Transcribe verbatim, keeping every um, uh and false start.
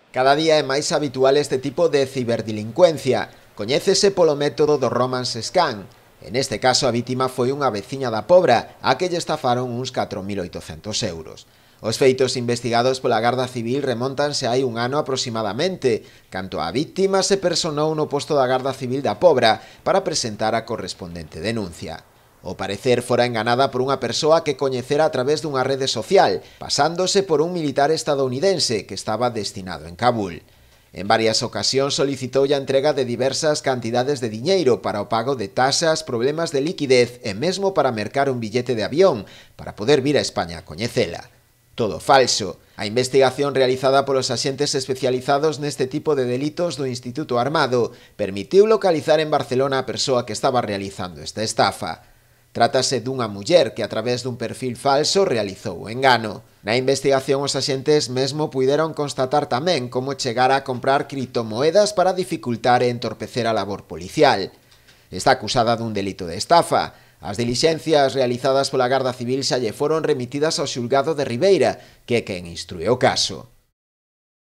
Cada día é máis habitual este tipo de ciberdelincuencia. Coñécese polo método do romance scan. En este caso a vítima foi unha veciña da Pobra a que lle estafaron uns catro mil oitocentos euros. Os feitos investigados pola Garda Civil remontanse hai un ano aproximadamente, canto a vítima se personou no posto da Garda Civil da Pobra para presentar a correspondente denuncia. Ao parecer fora enganada por unha persoa que coñecera a través dunha rede social, pasándose por un militar estadounidense que estaba destinado en Kabul. En varias ocasións solicitou a entrega de diversas cantidades de diñeiro para o pago de tasas, problemas de liquidez e mesmo para mercar un billete de avión para poder vir a España a coñecela. Todo falso. A investigación realizada polos axentes especializados neste tipo de delitos do Instituto Armado permitiu localizar en Barcelona a persoa que estaba realizando esta estafa. Trátase dunha muller que a través dun perfil falso realizou o engano. Na investigación os axentes mesmo puideron constatar tamén como chegar a comprar criptomoedas para dificultar e entorpecer a labor policial. Está acusada dun delito de estafa. As dilixencias realizadas pola Garda Civil xa lle foron remitidas ao xulgado de Ribeira, que é quen instrue o caso.